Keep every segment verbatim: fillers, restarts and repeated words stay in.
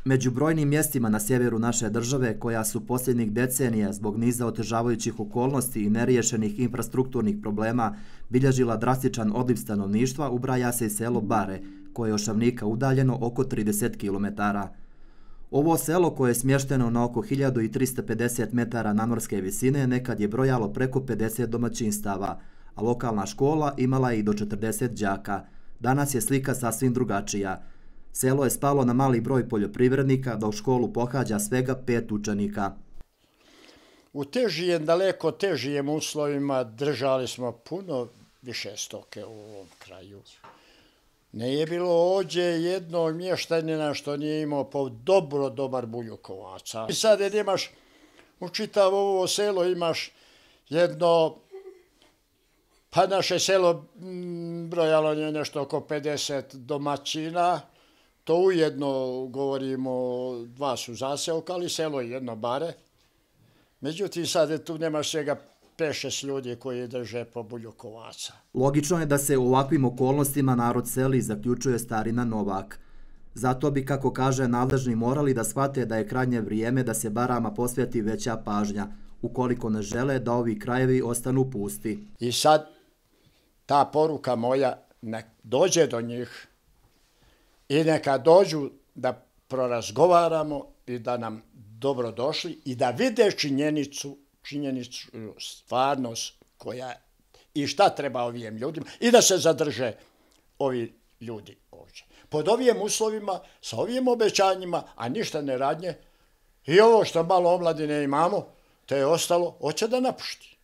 Među brojnim mjestima na sjeveru naše države, koja su posljednjih decenija zbog niza otežavajućih okolnosti i neriješenih infrastrukturnih problema bilježila drastičan odliv stanovništva, ubraja se i selo Bare, koje je od Šavnika udaljeno oko trideset kilometara. Ovo selo, koje je smješteno na oko hiljadu trista pedeset metara nadmorske visine, nekad je brojalo preko pedeset domaćinstava, a lokalna škola imala je i do četrdeset đaka. Danas je slika sasvim drugačija. Selo je spalo na mali broj poljoprivrednika, dok školu pohađa svega pet učenika. U težijem, daleko težijem uslovima držali smo puno više stoke u ovom kraju. Ne je bilo ođe jednog mještanina što nije imao po dobro dobar buljukovaca. I sad jer imaš, u čitavo ovo selo imaš jedno, pa naše selo brojalo je nešto oko pedeset domaćina. To ujedno govorimo, dva su zaseoka, ali selo je jedno Bare. Međutim, sad tu nemaš svega pet šest ljudi koji drže po buljukovaca. Logično je da se u ovakvim okolnostima narod seli, zaključuje starina Novak. Zato bi, kako kaže, nadležni morali da shvate da je krajnje vrijeme da se Barama posveti veća pažnja, ukoliko ne žele da ovi krajevi ostanu pusti. I sad ta poruka moja nek dođe do njih i neka dođu da prorazgovaramo i da nam dobro došli i da vide činjenicu, činjenicu, stvarnost koja i šta treba ovim ljudima i da se zadrže ovi ljudi ovdje. Pod ovim uslovima, sa ovim obećanjima, a ništa ne radnje, i ovo što malo omladine imamo, to je ostalo, hoće da napušti.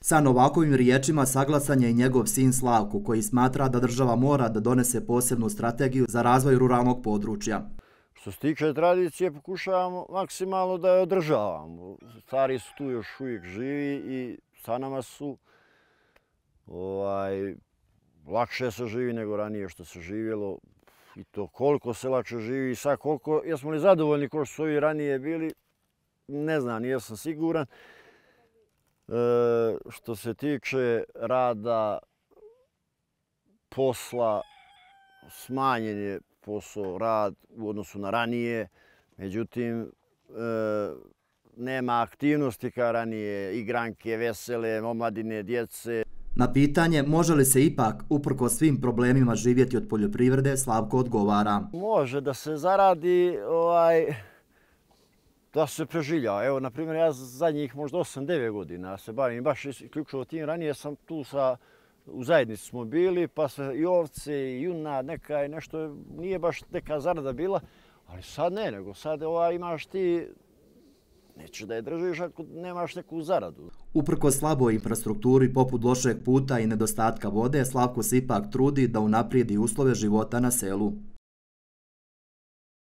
Sa Novakovim riječima saglasan je i njegov sin Slavko, koji smatra da država mora da donese posebnu strategiju za razvoj ruralnog područja. Što se tiče tradicije, pokušavamo maksimalno da je održavamo. Stari su tu još uvijek živi i sa nama su. Ovaj, lakše se živi nego ranije što se živjelo. I to koliko se lakše živi i sad koliko, jesmo li zadovoljni ko što su ovi ranije bili, ne znam, nisam siguran. E, što se tiče rada, posla, smanjen je posao, rad u odnosu na ranije, međutim, e, nema aktivnosti kao ranije, igranke, vesele, omladine, djece. Na pitanje može li se ipak, uprkos svim problemima, živjeti od poljoprivrede, Slavko odgovara. Može da se zaradi, ovaj, da se preživlja. Evo, na primjer, ja zadnjih možda osam devet godina se bavim baš isključivo tim. Ranije sam tu sa, u zajednici smo bili, pa se i ovce, i junad, neka i nešto, nije baš neka zarada bila, ali sad ne, nego sad ovaj, imaš ti, nećeš da je držiš ako nemaš neku zaradu. Uprkos slaboj infrastrukturi poput lošeg puta i nedostatka vode, Slavko se ipak trudi da unaprijedi uslove života na selu.